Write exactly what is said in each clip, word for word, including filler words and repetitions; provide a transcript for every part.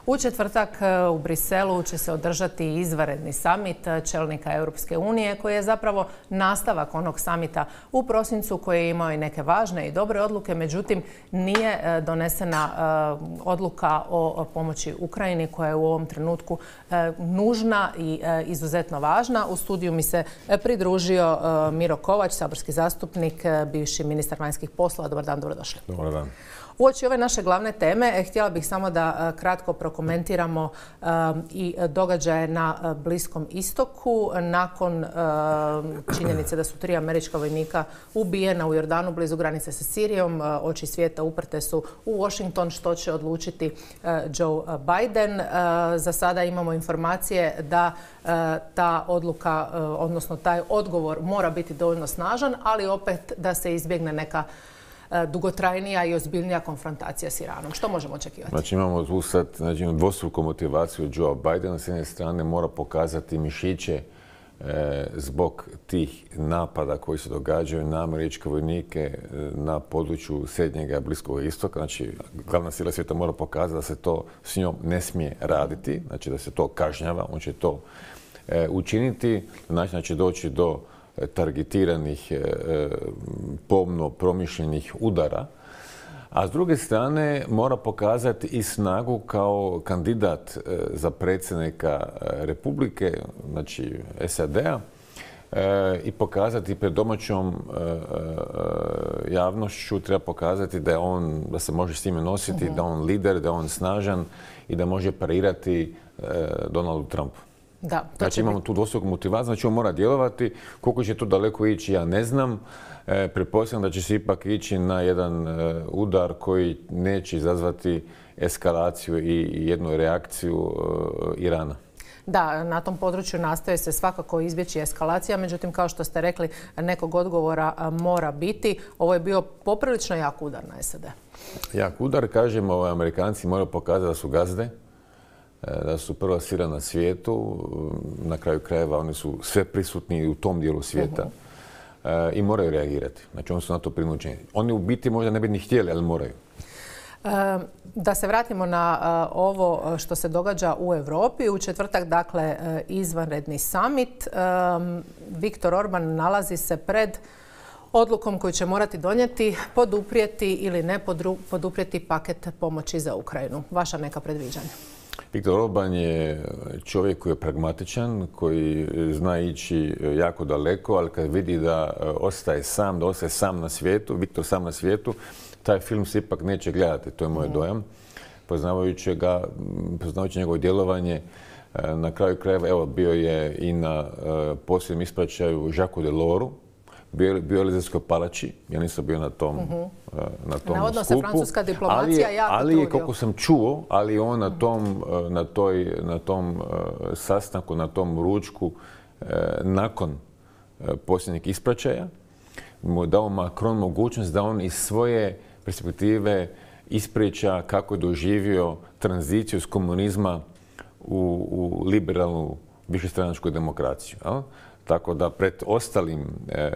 U četvrtak u Briselu će se održati izvanredni samit čelnika Europske unije koji je zapravo nastavak onog samita u prosincu koji je imao i neke važne i dobre odluke, međutim nije donesena odluka o pomoći Ukrajini koja je u ovom trenutku nužna i izuzetno važna. U studiju mi se pridružio Miro Kovač, saborski zastupnik, bivši ministar vanjskih poslova. Dobar dan, dobrodošli. Dobar dan. Uoči ove naše glavne teme htjela bih samo da kratko prokomentiramo i događaje na Bliskom istoku. Nakon činjenice da su tri američka vojnika ubijena u Jordanu blizu granice sa Sirijom, oči svijeta uprte su u Washington što će odlučiti Joe Biden. Za sada imamo informacije da ta odluka, odnosno taj odgovor mora biti dovoljno snažan, ali opet da se izbjegne neka dugotrajnija i ozbiljnija konfrontacija s Iranom. Što možemo očekivati? Znači imamo tu sad znači, dvostruku motivaciju Joe Bidena. S jedne strane mora pokazati mišiće e, zbog tih napada koji se događaju na američke vojnike e, na području srednjega i Bliskog istoka. Znači glavna sila svijeta mora pokazati da se to s njom ne smije raditi, znači da se to kažnjava. On će to e, učiniti, znači da će doći do targetiranih, pomno promišljenih udara, a s druge strane mora pokazati i snagu kao kandidat za predsjednika Republike, znači S A D-a, i pokazati pred domaćom javnošću, treba pokazati da je on, da se može s time nositi, uh-huh. da je on lider, da je on snažan i da može parirati Donaldu Trumpu. Da, znači imamo tu dvostruku motivaciju, znači on mora djelovati. Koliko će to daleko ići, ja ne znam. E, pretpostavljam da će se ipak ići na jedan e, udar koji neće izazvati eskalaciju i jednu reakciju e, Irana. Da, na tom području nastoje se svakako izbjeći eskalacija, međutim, kao što ste rekli, nekog odgovora mora biti. Ovo je bio poprilično jak udar na S A D. Jak udar, kažemo, ovaj, Amerikanci moraju pokazati da su gazde, da su prva sila na svijetu, na kraju krajeva oni su sve prisutni u tom dijelu svijeta uh-huh. i moraju reagirati. Znači oni su na to prinuđeni. Oni u biti možda ne bi ni htjeli, ali moraju. Da se vratimo na ovo što se događa u Europi. U četvrtak, dakle, izvanredni samit. Viktor Orban nalazi se pred odlukom koju će morati donijeti, poduprijeti ili ne poduprijeti paket pomoći za Ukrajinu. Vaša neka predviđanja? Viktor Orban je čovjek koji je pragmatičan, koji zna ići jako daleko, ali kad vidi da ostaje sam, da ostaje sam na svijetu, Viktor sam na svijetu, taj film se ipak neće gledati, to je moj dojam. Poznavajući ga, poznavajući njegovo djelovanje, na kraju krajeva, evo, bio je i na posljednjem ispraćaju Jacques Deloru, bio, bio je Elizejskoj palači, ja nisam bio na tom, uh-huh. na tom Navodno skupu. se francuska diplomacija ali, jako ali trudio. kako sam čuo, ali on na tom, na toj, na tom uh, sastanku, na tom ručku, uh, nakon uh, posljednjeg ispraćaja, mu dao Macron mogućnost da on iz svoje perspektive ispriča kako je doživio tranziciju iz komunizma u, u liberalnu višestranačku demokraciju. Ja? Tako da pred ostalim e,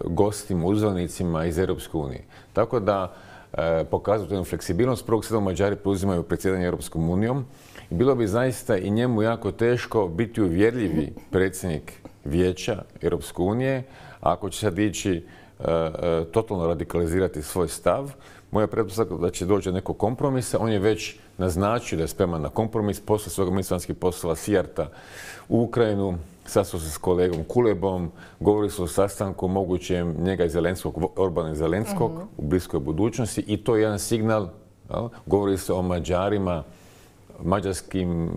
gostima, uzvanicima iz Europske unije. Tako da e, pokazuju jednu fleksibilnost. prvog sedmog Mađari preuzimaju predsjedanje Europskom unijom i bilo bi zaista i njemu jako teško biti uvjerljivi predsjednik Vijeća Europske unije ako će sad ići e, e, totalno radikalizirati svoj stav. Moja pretpostavka da će doći do nekog kompromisa. On je već naznačio da je spreman na kompromis. Poslije svoga ministra vanjskih poslova Sijarta u Ukrajinu, sastao se s kolegom Kulebom, govorili su o sastanku mogućem njega i Zelenskog, Orbana i Zelenskog uh-huh. u bliskoj budućnosti i to je jedan signal. Ja? Govori se o Mađarima, mađarskim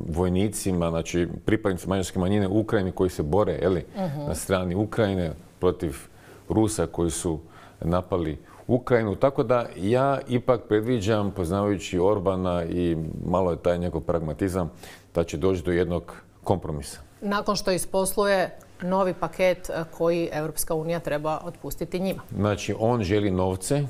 vojnicima, znači pripadnici mađarske manjine u Ukrajini koji se bore jeli, uh-huh. na strani Ukrajine protiv Rusa koji su napali Ukrajinu. Tako da ja ipak predviđam, poznavajući Orbana i malo je taj njegov pragmatizam, da će doći do jednog kompromisa. Nakon što isposluje novi paket koji Europska unija treba otpustiti njima. Znači, on želi novce,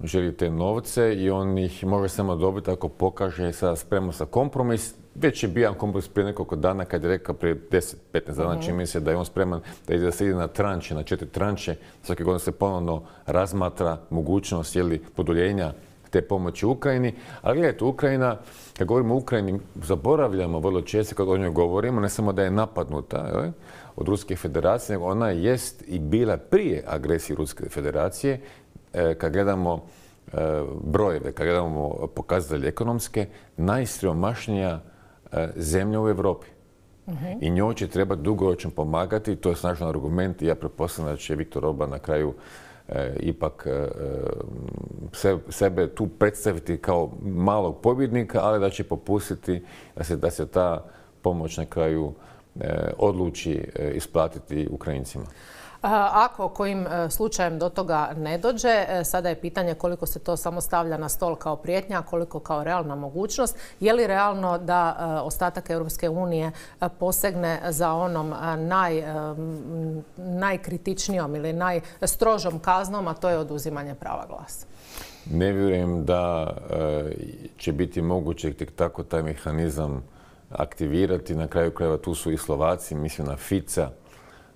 želi te novce i on ih može samo dobiti ako pokaže sada spremno sa kompromis. Već je bio kompromis prije nekoliko dana kad je rekao prije deset do petnaest dana, uh-huh. čini mi se da je on spreman da ide, da se ide na tranče, na četiri tranče. Svake godine se ponovno razmatra mogućnost jeli, produljenja te pomoći Ukrajini. Ali gledajte, Ukrajina, kad govorimo o Ukrajini, zaboravljamo vrlo često kad o njoj govorimo, ne samo da je napadnuta, jel, od Ruske federacije, nego ona jest i bila prije agresije Ruske federacije. Kad gledamo brojeve, kad gledamo pokazatelje ekonomske, najsiromašnija zemlja u Europi. Uh-huh. I njoj će trebati dugoročno pomagati, to je snažan argument i ja pretpostavljam da će Viktor Orban na kraju e, ipak e, se, sebe tu predstaviti kao malog pobjednika, ali da će popustiti da se, da se ta pomoć na kraju e, odluči e, isplatiti Ukrajincima. Ako kojim slučajem do toga ne dođe, sada je pitanje koliko se to samo stavlja na stol kao prijetnja, koliko kao realna mogućnost. Je li realno da ostatak Europske unije posegne za onom naj, najkritičnijom ili najstrožom kaznom, a to je oduzimanje prava glasa? Ne vjerujem da će biti moguće tek tako taj mehanizam aktivirati. Na kraju krajeva tu su i Slovaci, mislim na Fica.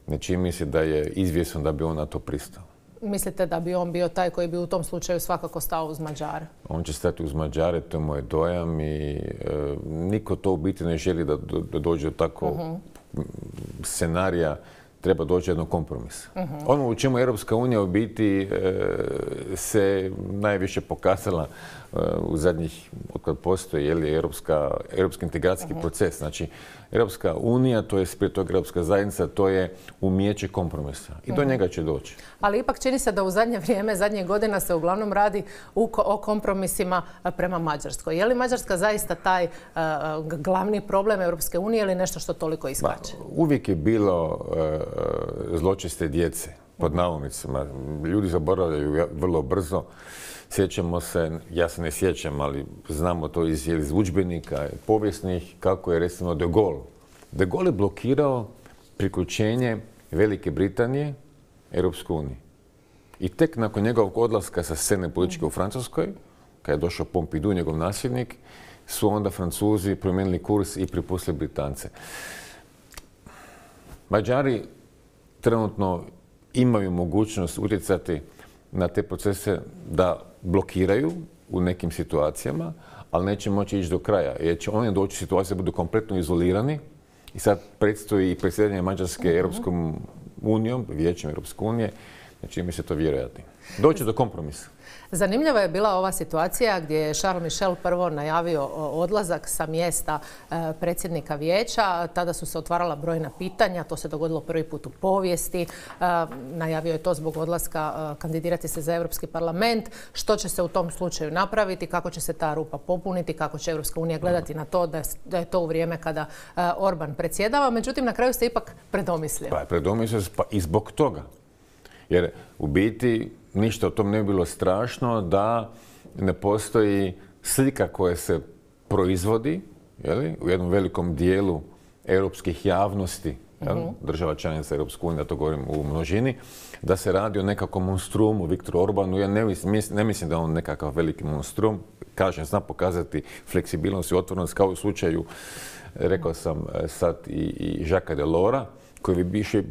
Ne čini mi se da je izvjesno da bi on na to pristao. Mislite da bi on bio taj koji bi u tom slučaju svakako stao uz Mađare? On će stati uz Mađare, to je moj dojam i e, niko to u biti ne želi da, da dođe do tako uh-huh. scenarija. Treba doći jednog kompromisa. Uh-huh. Ono u čemu Europska unija u biti e, se najviše pokazala e, u zadnjih, otkad postoji je li, Europska, Europski integracijski uh-huh. proces. Znači, Europska unija, to je prije toga Europska zajednica, to je umijeće kompromisa. I do uh-huh. njega će doći. Ali ipak čini se da u zadnje vrijeme, zadnjih godina se uglavnom radi u, o kompromisima prema Mađarskoj. Je li Mađarska zaista taj uh, glavni problem Europske unije ili nešto što toliko iskače? Ba, uvijek je bilo uh, zločeste djece, pod navodnicima. Ljudi zaboravljaju vrlo brzo. Sjećamo se, ja se ne sjećam, ali znamo to iz, iz udžbenika povijesnih, kako je recimo De Gaulle. De Gaulle je blokirao priključenje Velike Britanije Europskoj uniji. I tek nakon njegovog odlaska sa scene političke u Francuskoj, kad je došao Pompidou, njegov nasljednik, su onda Francuzi promijenili kurs i prepustili Britance. Mađari trenutno imaju mogućnost utjecati na te procese da blokiraju u nekim situacijama, ali neće moći ići do kraja. Jer će oni doći u situaciju da budu kompletno izolirani i sad predstoji i predsjedanje Mađarske uh-huh. Europskom unijom, Vijećem Europske unije, znači mi se to vjerojatno. Doći do kompromisa. Zanimljiva je bila ova situacija gdje je Charles Michel prvo najavio odlazak sa mjesta predsjednika vijeća. Tada su se otvarala brojna pitanja. To se dogodilo prvi put u povijesti. Najavio je to zbog odlaska kandidirati se za Europski parlament. Što će se u tom slučaju napraviti? Kako će se ta rupa popuniti? Kako će Europska unija gledati na to da je to u vrijeme kada Orban predsjedava? Međutim, na kraju se ipak predomislio. Pa, predomislio se pa i zbog toga. Jer u biti ništa o tom ne bi bilo strašno da ne postoji slika koja se proizvodi jeli, u jednom velikom dijelu europskih javnosti, jeli, uh-huh. država članica Europske unije, da to govorim u množini, da se radi o nekakvom monstrumu Viktoru Orbanu. Ja ne mislim, ne mislim da je on nekakav veliki monstrum. Kažem, zna pokazati fleksibilnost i otvorenost kao u slučaju, rekao sam sad, i, i Jacquesa Delorsa, koji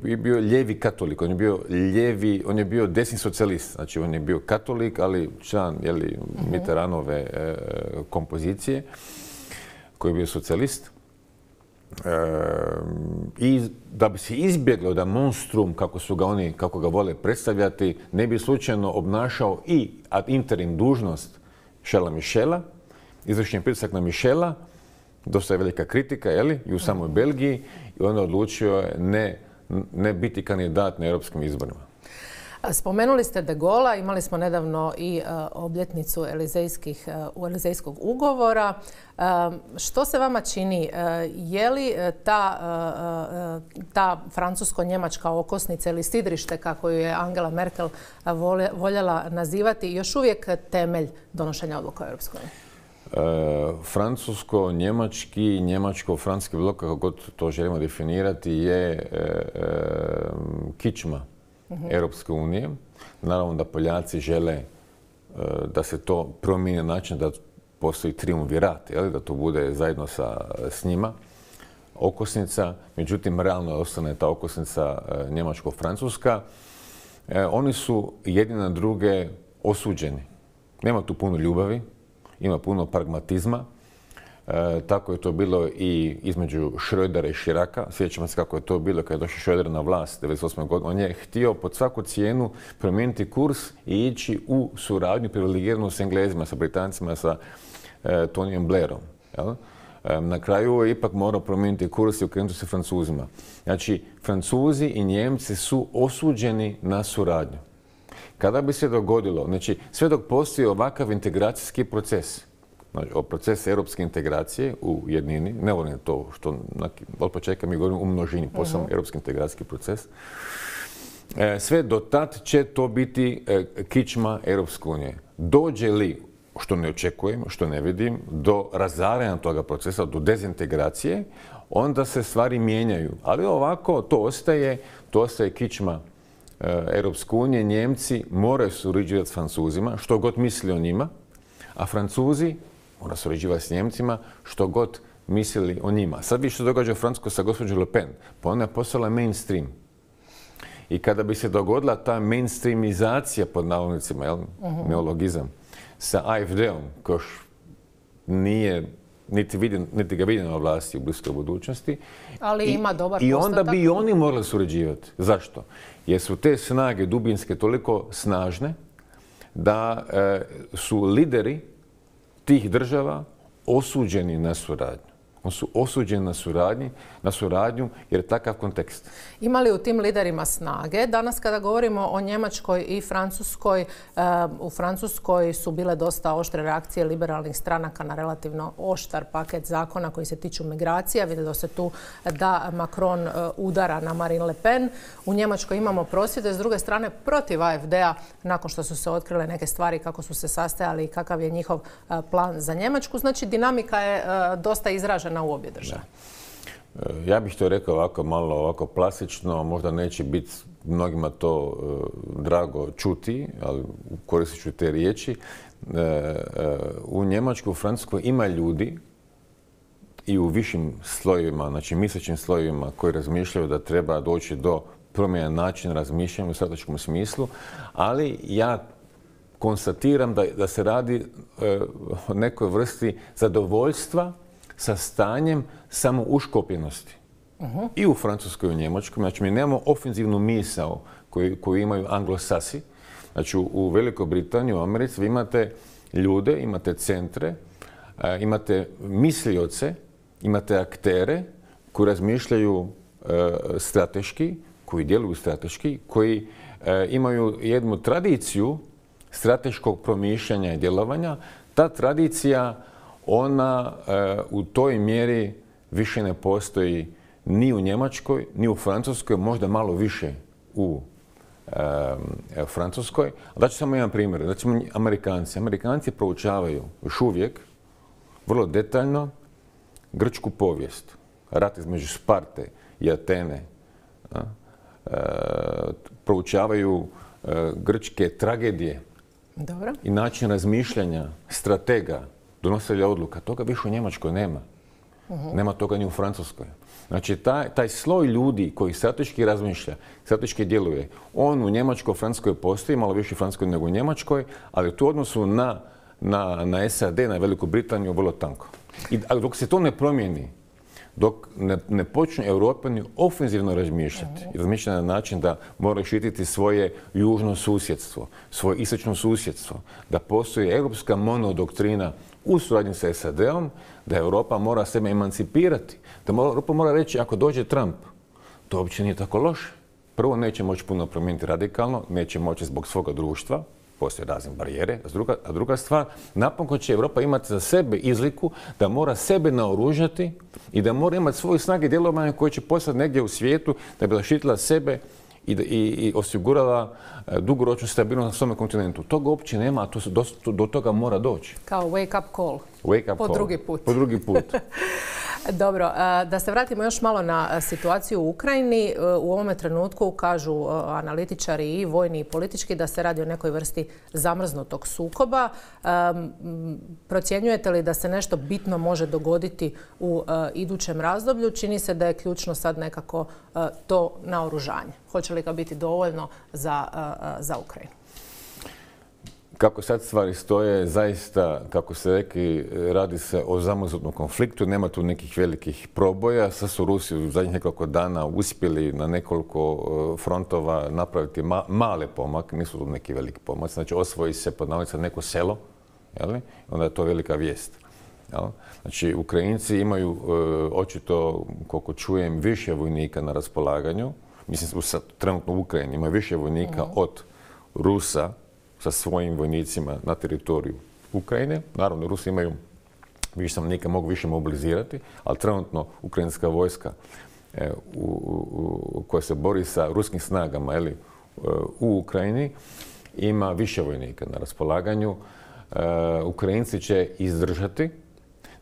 je bio lijevi katolik, on je bio lijevi, on je bio desni socijalist, znači on je bio katolik, ali član jeli, uh-huh. Mitterrandove e, kompozicije, koji je bio socijalist. E, I da bi se izbjeglo da monstrum, kako su ga oni, kako ga vole predstavljati, ne bi slučajno obnašao i ad interim dužnost Charlesa Michela, izvršen je pritisak na Michela, dosta je velika kritika, jeli, i u samoj Belgiji, i onda odlučio je ne, ne biti kandidat na europskim izborima. Spomenuli ste De Gaulle'a, imali smo nedavno i uh, obljetnicu elizejskih, uh, elizejskog ugovora. Uh, što se vama čini? Uh, je li ta, uh, uh, ta francusko-njemačka okosnica ili sidrište, kako ju je Angela Merkel volje, voljela nazivati, još uvijek temelj donošenja odluka u Europskoj uniji? Uh, francusko-njemački, njemačko-francuski blok, kako god to želimo definirati, je uh, uh, kičma uh-huh. Europske unije. Naravno da Poljaci žele uh, da se to promijeni na način da postoji triumvirat, jel? Da to bude zajedno sa, s njima okosnica. Međutim, realno ostane ta okosnica uh, njemačko-francuska. Uh, oni su jedni na druge osuđeni. Nema tu puno ljubavi, ima puno pragmatizma. E, tako je to bilo i između Schrödera i Chiraca. Sjećamo se kako je to bilo kada je došao Schröder na vlast devedeset osme godine. On je htio pod svaku cijenu promijeniti kurs i ići u suradnju privilegiranu s Englezima, sa Britancima, sa e, Tonyjem Blairom. Jel? E, na kraju je ipak morao promijeniti kurs i okrenuti se Francuzima. Znači, Francuzi i Njemci su osuđeni na suradnju. Kada bi se dogodilo, znači sve dok postoji ovakav integracijski proces, znači, o procesu europske integracije u jednini, ne volim to što od početka mi govorimo u množini, posebno uh-huh. europski integracijski proces, e, sve do tad će to biti e, kičma Europske unije. Dođe li, što ne očekujem, što ne vidim, do razaranja toga procesa, do dezintegracije, onda se stvari mijenjaju. Ali ovako to ostaje, to ostaje kičma e, Europske unije. Njemci moraju surađivati s Francuzima, što god misli o njima, a Francuzi mora surađivati s Njemcima, što god mislili o njima. Sad vi što događa u Francuskoj sa gospođom Le Pen, pa ona je postala mainstream. I kada bi se dogodila ta mainstreamizacija, pod navodnicima, jel, uh-huh. neologizam, sa A F D-om, koji nije niti, vidim, niti ga vidim na vlasti u bliskoj budućnosti. Ali I, ima dobar I postotak. onda bi i oni morali surađivati. Zašto? Jer su te snage dubinske toliko snažne da e, su lideri tih država osuđeni na suradnju. Oni su osuđeni na suradnju, na suradnju jer je takav kontekst. Ima li u tim liderima snage? Danas kada govorimo o Njemačkoj i Francuskoj, u Francuskoj su bile dosta oštre reakcije liberalnih stranaka na relativno oštar paket zakona koji se tiču migracija. Vidjelo se tu da Macron udara na Marine Le Pen. U Njemačkoj imamo prosvjede, s druge strane protiv A F D-a nakon što su se otkrile neke stvari kako su se sastajali i kakav je njihov plan za Njemačku. Znači dinamika je dosta izražena u obje države. Ja bih to rekao ovako malo ovako plastično, možda neće biti mnogima to uh, drago čuti, ali koristit ću te riječi. Uh, uh, u Njemačkoj, u Francuskoj ima ljudi i u višim slojevima, znači mislećim slojevima koji razmišljaju da treba doći do promjena načina razmišljanja u strateškom smislu, ali ja konstatiram da, da se radi uh, o nekoj vrsti zadovoljstva sa stanjem samouškopljenosti. Uh-huh. I u Francuskoj i u Njemačkoj. Znači, mi nemamo ofenzivnu misao koju, koju imaju anglosasi. Znači, u, u Velikoj Britaniji, u Americi, vi imate ljude, imate centre, a, imate mislioce, imate aktere koji razmišljaju a, strateški, koji djeluju strateški, koji a, imaju jednu tradiciju strateškog promišljanja i djelovanja. Ta tradicija ona e, u toj mjeri više ne postoji ni u Njemačkoj, ni u Francuskoj, možda malo više u e, Francuskoj. Daću samo jedan primjer. Znači, Amerikanci. Amerikanci proučavaju još uvijek vrlo detaljno grčku povijest. Rat između Sparte i Atene. A, e, proučavaju e, grčke tragedije. Dobro. I način razmišljanja stratega, donositelja odluka. Toga više u Njemačkoj nema. Uh-huh. Nema toga ni u Francuskoj. Znači, taj, taj sloj ljudi koji strateški razmišlja, strateški djeluje, on u Njemačkoj, Francuskoj postoji, malo više u Francuskoj nego u Njemačkoj, ali tu odnosu na, na, na S A D, na Veliku Britaniju, vrlo tanko. I dok se to ne promijeni, dok ne, ne počnu Europani ofenzivno razmišljati, uh-huh. razmišljati na način da moraju štititi svoje južno susjedstvo, svoje istočno susjedstvo, da postoji europska monodoktrina u suradnji sa S A D-om, da Europa mora sebe emancipirati, da Europa mora reći ako dođe Trump, to uopće nije tako loše. Prvo, neće moći puno promijeniti radikalno, neće moći zbog svoga društva, postoje razne barijere, a druga, a druga stvar, napokon će Europa imati za sebe izliku da mora sebe naoružati i da mora imati svoje snage djelovanja koje će poslati negdje u svijetu da bi zaštitila sebe i, i, i osigurala dugoročnu stabilnost na svome kontinentu. Toga uopće nema, a to se do, do toga mora doći. Kao wake up call. Wake up po call. drugi put. Po drugi put. Dobro, da se vratimo još malo na situaciju u Ukrajini. U ovome trenutku kažu analitičari i vojni i politički da se radi o nekoj vrsti zamrznutog sukoba. Procjenjujete li da se nešto bitno može dogoditi u idućem razdoblju? Čini se da je ključno sad nekako to naoružanje. Hoće li ga biti dovoljno za, za Ukrajinu? Kako sad stvari stoje, zaista, kako se rekli, radi se o zamrznutnom konfliktu, nema tu nekih velikih proboja. Sad su Rusi u zadnjih nekoliko dana uspjeli na nekoliko frontova napraviti ma male pomake, nisu tu neki veliki pomaci. Znači, osvoji se pod navodnicima neko selo, jel? Onda je to velika vijest. Jel? Znači, Ukrajinci imaju e, očito, koliko čujem, više vojnika na raspolaganju. Mislim, sad, trenutno u Ukrajini ima više vojnika mm. od Rusa sa svojim vojnicima na teritoriju Ukrajine. Naravno, Rusi imaju više stanovnika, mogu više mobilizirati, ali trenutno ukrajinska vojska e, u, u, koja se bori sa ruskim snagama ili, u Ukrajini ima više vojnika na raspolaganju. E, Ukrajinci će izdržati.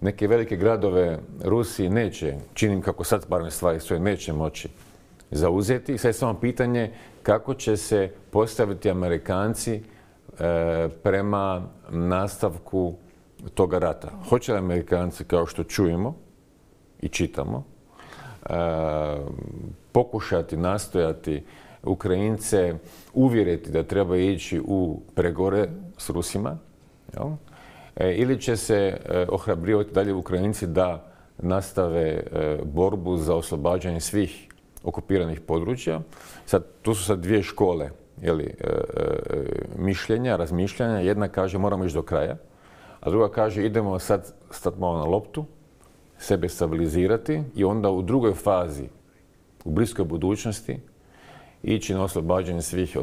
Neke velike gradove Rusiji neće, činim kako sad barem stvari svoje, neće moći zauzeti. Sad je samo pitanje kako će se postaviti Amerikanci e, prema nastavku toga rata. Hoće li Amerikanci, kao što čujemo i čitamo, e, pokušati, nastojati Ukrajince uvjeriti da treba ići u pregovore s Rusima, jel? E, ili će se e, ohrabrivati dalje Ukrajinci da nastave e, borbu za oslobađanje svih okupiranih područja. Sad, tu su sad dvije škole jeli, e, e, mišljenja, razmišljanja. Jedna kaže moramo ići do kraja, a druga kaže idemo sad stati malo na loptu, sebe stabilizirati i onda u drugoj fazi, u bliskoj budućnosti, ići na oslobađanje svih,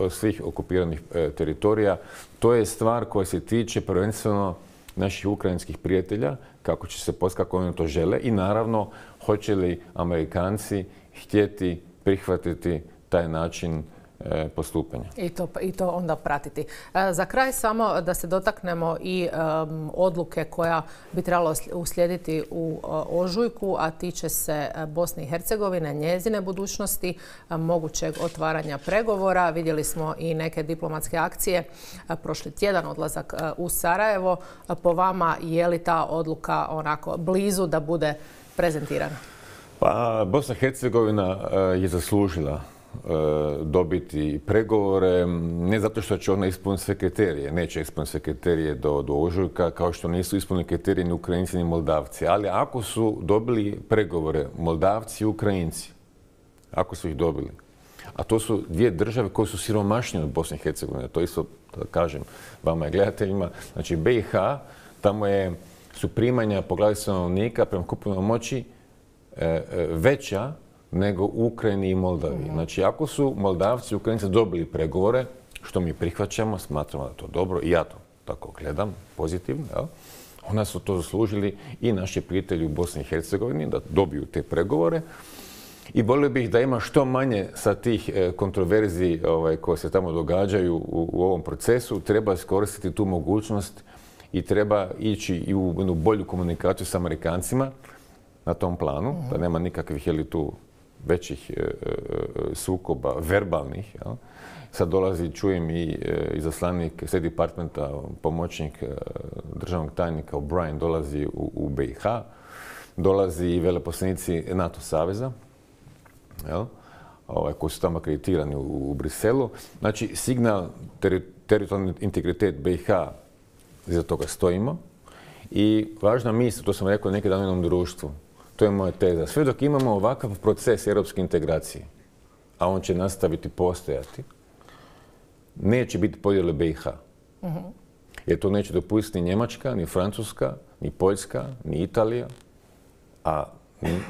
svih okupiranih e, teritorija. To je stvar koja se tiče prvenstveno naših ukrajinskih prijatelja, kako će se postaviti, kako oni to žele i naravno hoće li Amerikanci htjeti prihvatiti taj način e, postupanja. I to, I to onda pratiti. E, za kraj samo da se dotaknemo i um, odluke koja bi trebalo uslijediti u uh, ožujku, a tiče se Bosne i Hercegovine, njezine budućnosti, uh, mogućeg otvaranja pregovora. Vidjeli smo i neke diplomatske akcije. Uh, prošli tjedan odlazak uh, u Sarajevo. Uh, po vama je li ta odluka onako blizu da bude prezentirana? Pa, Bosna i Hercegovina uh, je zaslužila dobiti pregovore, ne zato što će ona ispuniti sve kriterije, neće ispuniti sve kriterije do, do ožujka, kao što nisu ispunili kriterije ni Ukrajinci ni Moldavci. Ali ako su dobili pregovore Moldavci i Ukrajinci, ako su ih dobili, a to su dvije države koje su siromašnije od Bosne i Hercegovine, to isto da kažem vama i gledateljima, znači B i H, tamo je, su primanja po glavi stanovnika prema kupovnoj moći e, e, veća nego u Ukrajini i Moldaviji. Znači, ako su Moldavci i Ukrajinci dobili pregovore, što mi prihvaćamo, smatramo da je to dobro, i ja to tako gledam, pozitivno, jel? Onda su to zaslužili i naši prijatelji u Bosni i Hercegovini da dobiju te pregovore. I volio bih da ima što manje sa tih kontroverziji ovaj, koje se tamo događaju u, u ovom procesu. Treba iskoristiti tu mogućnost i treba ići i u jednu bolju komunikaciju s Amerikancima na tom planu, da nema nikakvih je li tu većih e, e, sukoba, verbalnih. Jel? Sad dolazi, čujem i e, izaslanik State Departmenta, pomoćnik e, državnog tajnika O'Brien dolazi u, u B i H, dolazi i veleposlanici NATO saveza, jel? Ovaj, koji su tamo akreditirani u, u Briselu. Znači, signal teri, teritorijalni integritet B i H, iza toga stojimo. I važna misla, to sam rekao neki dan u jednom društvu, to je moja teza. Sve dok imamo ovakav proces europske integracije, a on će nastaviti postojati, neće biti podjele B i H. Uh-huh. Jer to neće dopustiti ni Njemačka, ni Francuska, ni Poljska, ni Italija. A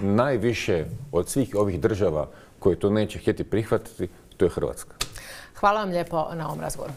najviše od svih ovih država koje to neće htjeti prihvatiti, to je Hrvatska. Hvala vam lijepo na ovom razgovoru.